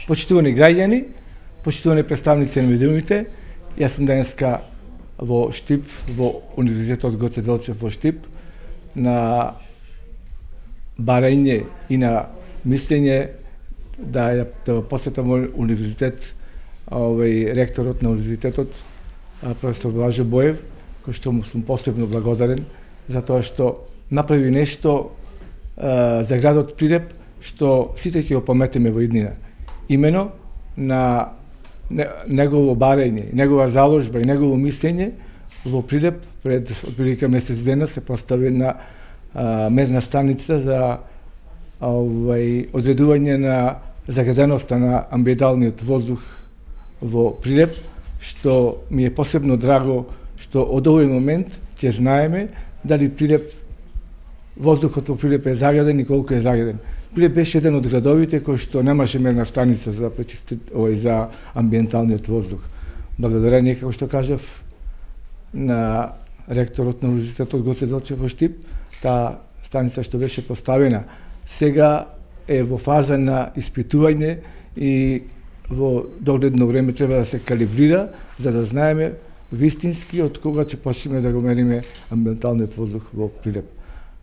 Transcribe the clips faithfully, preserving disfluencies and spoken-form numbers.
Почитувани граѓани, почитувани представници на медиумите, јас сум денеска во Штип, во Универзитетот Гоце Делчев во Штип, на барање и на мислење да ја да посетам универзитет, овој ректорот на универзитетот, професор Блаже Боев, кој што му сум посебно благодарен за тоа што направи нешто а, за градот Прилеп што сите ќе го паметиме во иднина. Имено на негово барање, негова заложба и негово мислење во Прилеп пред отприлика месец дена се постави една а, мерна станица за овај одредување на загаденоста на амбиенталниот воздух во Прилеп, што ми е посебно драго што од овој момент ќе знаеме дали Прилеп, воздухот во Прилеп е загаден и колку е загаден. Прилеп беше еден од градовите кој што немаше мерна станица за пречисти, овој за амбиенталниот воздух. Благодарение, како што кажав, на ректорот на Универзитетот Гоце Делчев во Штип, таа станица што беше поставена сега е во фаза на испитување и во догледно време треба да се калибрира за да знаеме вистински од кога ќе почнеме да го мериме амбиенталниот воздух во Прилеп.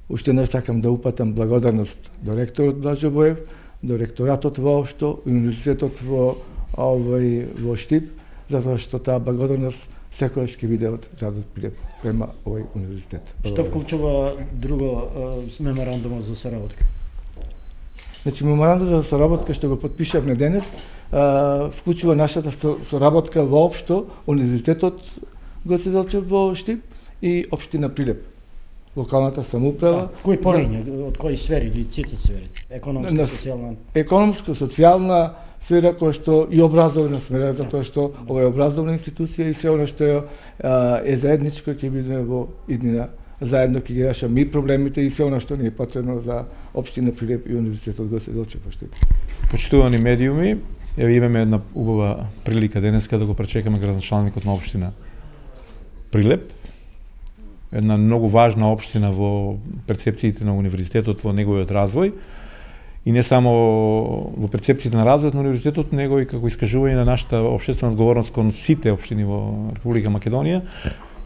Уште еднаш сакам да упатам благодарност до ректорот Блаже Боев, до ректоратот воопшто и универзитетот во овој во Штип, затоа што таа благодарност секогаш ќе биде од градот Прилеп према овој универзитет. Што вклучува друго меморандумот за соработка? Значи, меморандумот за соработка што го потпишавме денес, а, вклучува нашата соработка воопшто универзитетот Гоце Делчев во Штип и општина Прилеп. Локалната самоуправа. А, кои полиња, од кои сфери или сите сфери? Економска, социјална? Економска, социјална сфера која што и образовна сфера, затоа што ова е образовна институција и се она што е, е заедничко ќе биде во иднина. Заедно ќе ги решаме и проблемите и се она што ни е потребно за општина Прилеп и универзитетот Гоце Делчев во Штип. Почитувани медиуми, еве имаме една убава прилика денеска да го пречекаме градоначалникот на општина Прилеп. Една многу важна општина во перцепциите на универзитетот во неговиот развој и не само во перцепциите на развојот на универзитетот, него и како искажување на нашата општествена одговорност кон сите општини во Република Македонија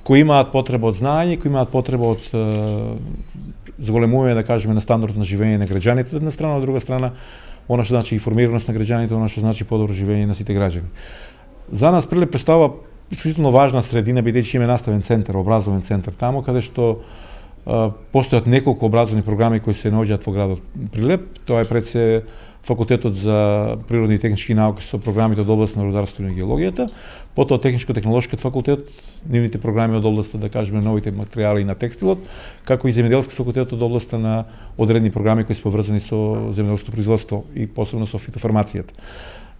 кои имаат потреба од знаење, кои имаат потреба од зголемување, да кажеме, на стандардот на живење на граѓаните, од една страна, од друга страна, она што значи информираност на граѓаните, она што значи подобро живење на сите граѓани. За нас Прилеп представува исклучително важна средина, бидејќи има наставен центар, образовен центар таму, каде што а, постојат неколку образовни програми кои се наоѓаат во градот Прилеп. Тоа е пред се факултетот за природни и технички науки со програмите од област на рударството и геологијата, потоа техничко-технолошкиот факултет, нивните програми од областа, да кажеме, новите материјали на текстилот, како и земјоделски факултет од областа на одредени програми кои се поврзани со земјоделското производство и посебно со фитофармацијата.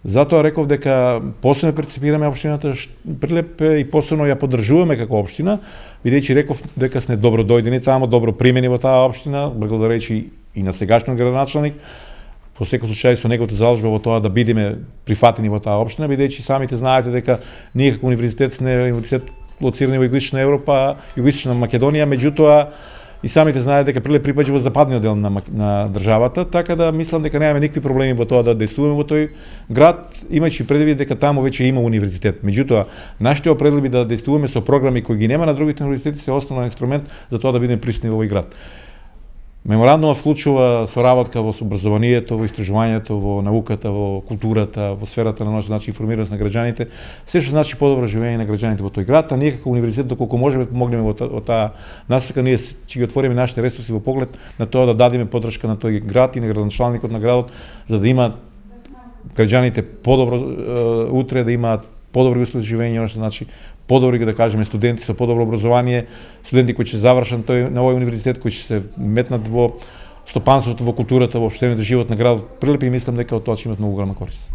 Затоа реков дека посебно перцепираме општината Прилеп и посебно ја поддржуваме како општина, бидејќи реков дека сме добро дојдени таму, добро примени во таа општина, благодарејќи и на сегашниот градоначалник, во секој случај со неговата заложба во тоа да бидеме прифатени во таа општина, бидејќи самите знаете дека ние како универзитет сме универзитет лоцирани во Југоисточна Европа, Југоисточна Македонија, меѓутоа и самите знаете дека Прилеп припаѓа во западниот дел на, на државата, така да мислам дека немаме никакви проблеми во тоа да действуваме во тој град, имајќи предвид дека таму веќе има универзитет. Меѓутоа, нашите определби да действуваме со програми кои ги нема на другите универзитети се основен инструмент за тоа да бидеме присутни во овој град. Меморандумот вклучува соработка во образованието, во истражувањето, во науката, во културата, во сферата на значи информираност на граѓаните, се што значи подобро живење на граѓаните во тој град, а ние како универзитет доколку можеме помогнеме во, во таа насока, ние ќе ги отвориме нашите ресурси во поглед на тоа да дадеме поддршка на тој град и на градоначалникот на градот за да имаат граѓаните подобро е, утре, да имаат подобри услови за живење, што значи подобри, да кажеме, студенти со подобро образование, студенти кои ќе завршат тој на овој универзитет, кои ќе се метнат во стопанството, во културата, во општениот живот на градот Прилеп и мислам дека од тоа ќе имат многу голема корист.